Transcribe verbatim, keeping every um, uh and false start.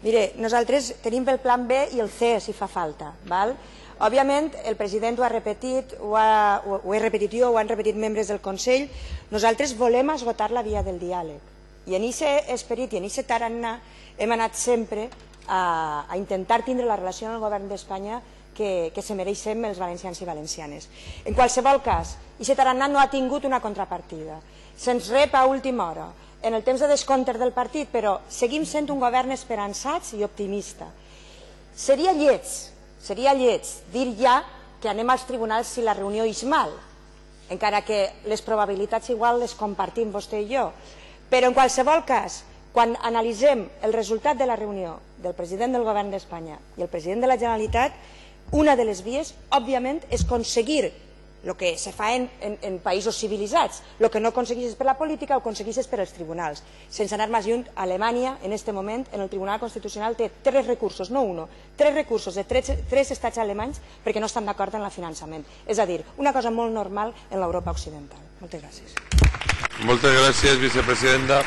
Mire, nosaltres tenim el plan B i el C si fa falta. Òbviament, el president ho ha repetit, ho he repetit jo, ho han repetit membres del Consell, nosaltres volem esgotar la via del diàleg. I en aquest esperit i en aquest tarannà hem anat sempre a intentar tindre la relació amb el govern d'Espanya que se mereixem els valencians i valencianes. En qualsevol cas, aquest tarannà no ha tingut una contrapartida. Se'ns rep a última hora, en el temps de descompte del partit, però seguim sent un govern esperançats i optimista. Seria lleig, seria lleig dir ja que anem als tribunals si la reunió és mal, encara que les probabilitats igual les compartim vostè i jo. Però en qualsevol cas, quan analitzem el resultat de la reunió del president del govern d'Espanya i el president de la Generalitat, una de les vies, òbviament, és aconseguir el que se fa en països civilitzats. El que no aconsegueixes per la política ho aconsegueixes per als tribunals. Sense anar més lluny, Alemanya, en aquest moment, en el Tribunal Constitucional, té tres recursos, no un, tres recursos de tres estats alemanys perquè no estan d'acord en el finançament. És a dir, una cosa molt normal en l'Europa occidental. Moltes gràcies. Moltes gràcies, vicepresidenta.